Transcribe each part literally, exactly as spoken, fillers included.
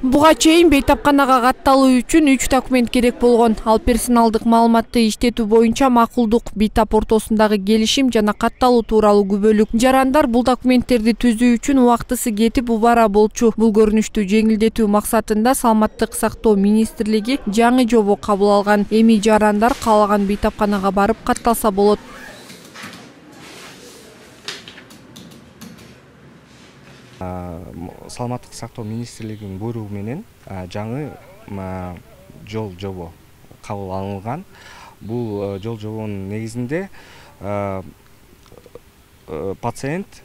Буга чейин бейтапканага катталуу үчүн үч документ керек болгон. Ал персоналдык маалыматты иштетүү боюнча макулдук, бейтап ортосундагы келишим жана катталуу тууралуу күбөлүк. Жарандар бул документтерди түзүү үчүн убактысы кетип убара болчу. Бул көрүнүштү жеңилдетүү максатында Саламаттык сактоо министрлиги жаңы жобо кабыл алган. Эми жарандар каалаган бейтапканага барып катталса болот. Саламаттык сактоо министрлигинин буйругу менен жаңы жол жобо кабыл алынган. Бул жол жобонун негизинде пациент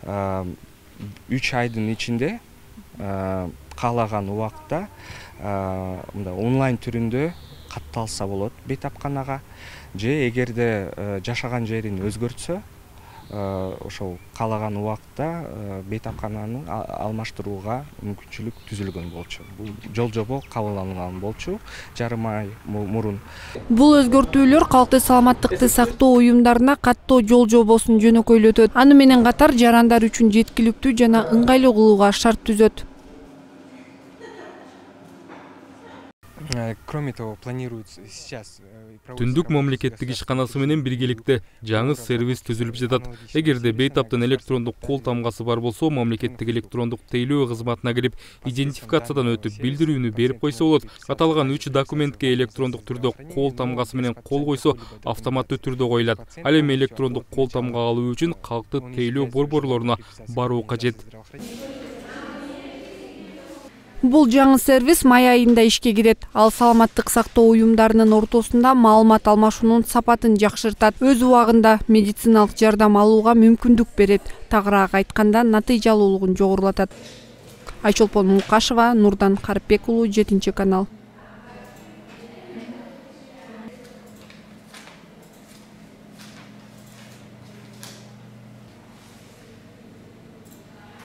үч айдын ичинде каалаган убакта онлайн түрүндө катталса болот бейтапканага, же эгерде жашаган жерин өзгөртсө ошол каалаган убакта бейтапкананы алмаштырууга мүмкүнчүлүк түзүлгөн болчу. Бул жол жобо кабыл алынган болчу жарым ай мурун. Бул өзгөртүүлөр калкты саламаттыкты сактоо уюмдарына каттоо жол жобосун жөнөкөйлөтөт. Аны менен катар жарандар үчүн жеткиликтүү жана ыңгайлуу кылууга шарт түзөт. Кроме того, планируется сейчас Түндүк мамлекеттик ишканасы менен биргеликте жаңы сервис түзүлүп жатат. Эгерде бейтаптын электрондук кол тамгасы бар болсо, мамлекеттик электрондук тейлөө кызматына кирип, идентификациядан өтүп, билдирүүнү берип койсо болот. Аталган үч документке электрондук түрдө кол тамгасы менен кол койсо, автоматтуу түрдө коюлат. Ал эми электрондук кол тамга алуу үчүн калктык тейлөө борборлоруна баруу кажет. Бул жаңы сервис май айында ишке кирет. Ал саламаттык сактоо уюмдарынын ортосунда маалымат алмашуунун сапатын жакшыртат. Өз убагында медициналык жардам алууга мүмкүндүк берет. Тагыраак айтканда, натыйжалуулугун жогорулатат. Айчолпон Мукашева, Нурдан Карпек уулу, жетинчи канал.